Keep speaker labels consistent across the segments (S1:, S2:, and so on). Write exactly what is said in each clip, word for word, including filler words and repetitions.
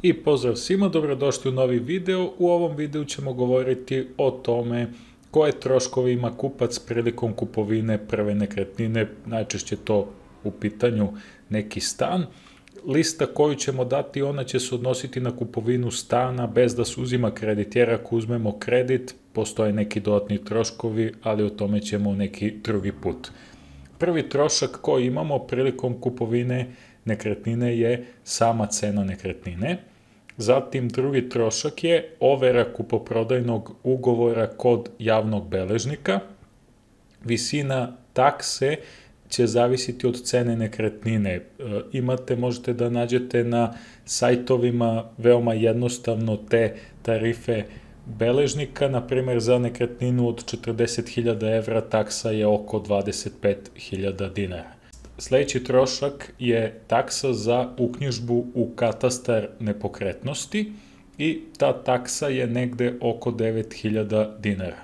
S1: I pozdrav svima, dobrodošli u novi video. U ovom videu ćemo govoriti o tome koje troškove ima kupac prilikom kupovine prve nekretnine, najčešće to u pitanju neki stan. Lista koju ćemo dati, ona će se odnositi na kupovinu stana bez da se uzima kredit, jer ako uzmemo kredit, postoje neki dodatni troškovi, ali o tome ćemo neki drugi put. Prvi trošak koji imamo prilikom kupovine nekretnine je sama cena nekretnine. Zatim drugi trošak je overa kupoprodajnog ugovora kod javnog beležnika. Visina takse će zavisiti od cene nekretnine. E, imate, možete da nađete na sajtovima veoma jednostavno te tarife beležnika, na primjer za nekretninu od četrdeset hiljada evra taksa je oko dvadeset pet hiljada dinara. Sljedeći trošak je taksa za uknjižbu u katastar nepokretnosti i ta taksa je negde oko devet hiljada dinara.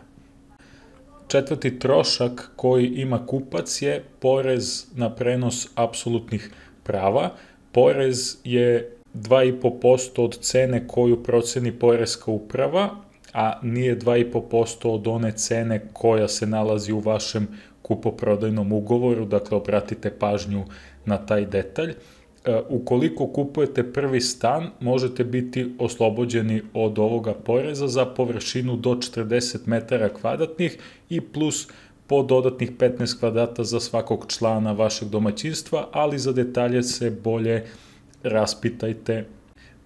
S1: Četvrti trošak koji ima kupac je porez na prenos apsolutnih prava. Porez je dva i po posto od cene koju proceni poreska uprava, a nije dva i po posto od one cene koja se nalazi u vašem kupoprodajnom ugovoru, dakle obratite pažnju na taj detalj. Ukoliko kupujete prvi stan, možete biti oslobođeni od ovoga poreza za površinu do četrdeset metara kvadratnih i plus po dodatnih petnaest kvadrata za svakog člana vašeg domaćinstva, ali za detalje se bolje raspitajte.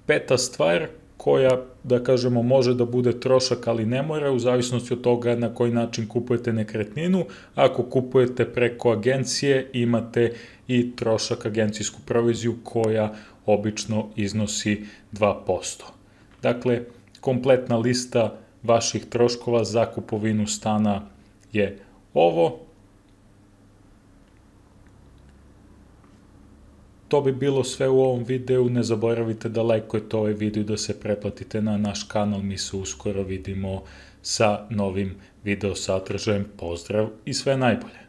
S1: Peta stvar koja, da kažemo, može da bude trošak, ali ne mora, u zavisnosti od toga na koji način kupujete nekretninu. Ako kupujete preko agencije, imate i trošak, agencijsku proviziju, koja obično iznosi dva posto. Dakle, kompletna lista vaših troškova za kupovinu stana je ovo. To bi bilo sve u ovom videu, ne zaboravite da lajkujete ovaj video i da se pretplatite na naš kanal, mi se uskoro vidimo sa novim video sadržajem. Pozdrav i sve najbolje!